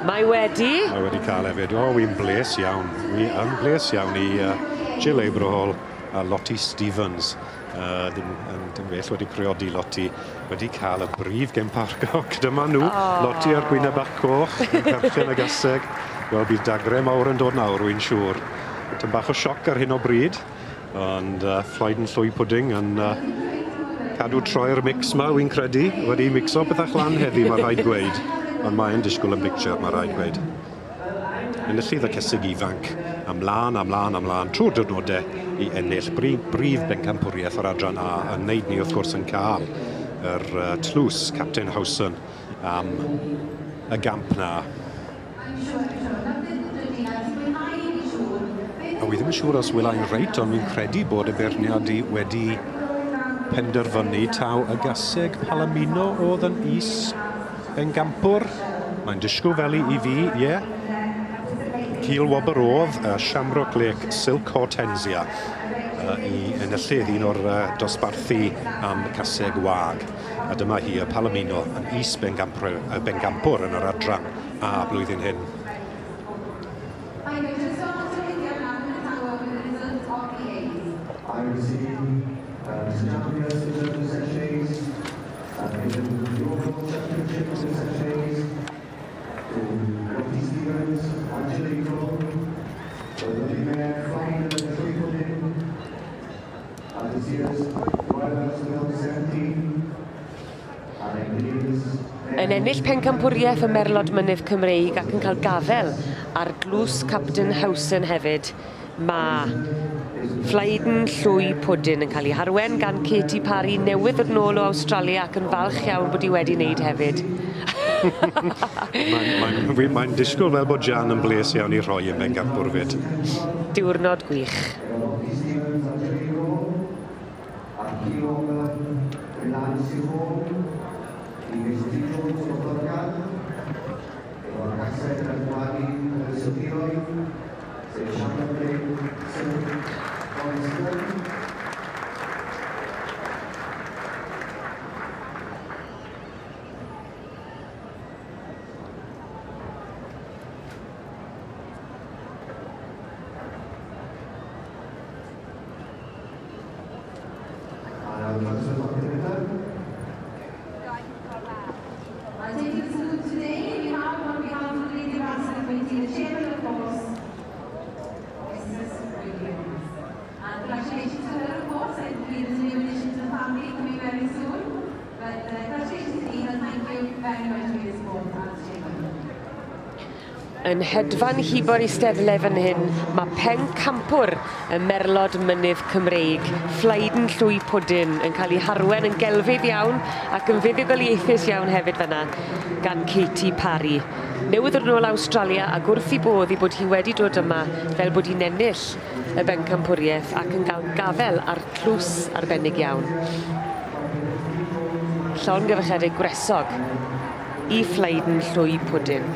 Mae wedi. Mae wedi cael hefyd. O, wy'n bles iawn. Wi yn bles iawn i Jill Abrahall a Lottie Stevens. Dim well wedi priodi Lottie, wedi cael y brif gemparcog. Dyma nhw, oh. Lottie a'r gwyneb bach coch, yn perchen y gaseg. Wel, bydd dagre mawr yn dod nawr, wy'n siŵr. Tym bach o sioc ar hyn o bryd, ond Floyd yn llwy pwding yn cadw troi'r mix ma, wy'n credu. Wedi mixo pethau lan heddi, mae rhaid gweud. Ond mae'n disgwyl yn picture, mae rhaid gweud. Enillydd y cesig ifanc, ymlaen, ymlaen, ymlaen, trwy'r diwrnodau i ennill brif bencampwriaeth o'r adran A, yn wneud ni wrth gwrs yn cael yr tlws Captain Howson am y gamp na. A wi ddim yn siŵr os wela i'n reit, ond fi'n credu bod y beirniad i wedi penderfynu taw y gaseg Palomino oedd yn is bencampwr. Mae'n disgwyl fel i fi, ie. Yeah. Cil wobr oedd Shamrock Lake Silk Hortensia i enillydd un o'r dosbarthu am caseg wag. A dyma hi, y Palomino, yn is bencampwr yn yr adran A blwyddyn hyn. Yn ennill pencampwriaeth y Merlod Mynydd Cymreig ac yn cael gafel ar glws Captain Howson hefyd, mae Flaiden Llwy Pwdin yn cael ei harwen gan Katie Parry, newydd ddod nôl o Awstralia ac yn falch iawn bod hi wedi wneud hefyd. Mae'n disgwyl fel bod Jan yn bles iawn i rhoi yn bencampwr fyd. Diwrnod gwych. Yn hedfan hibo'r eisteddle fan hyn, mae pencampwr y Merlod Mynydd Cymreig, Flaiden Llwy Pwdin, yn cael ei harwen yn gelfydd iawn ac yn fuddugoliaethus iawn hefyd fan'na gan Katie Parry. Newydd ddod nôl Awstralia ac wrth i bodd i bod hi wedi dod yma fel bod hi'n ennill y bencampwriaeth ac yn cael gafel ar tlws arbennig iawn. Llongyfarchiadau gwresog i Flaiden Llwy Pwdin.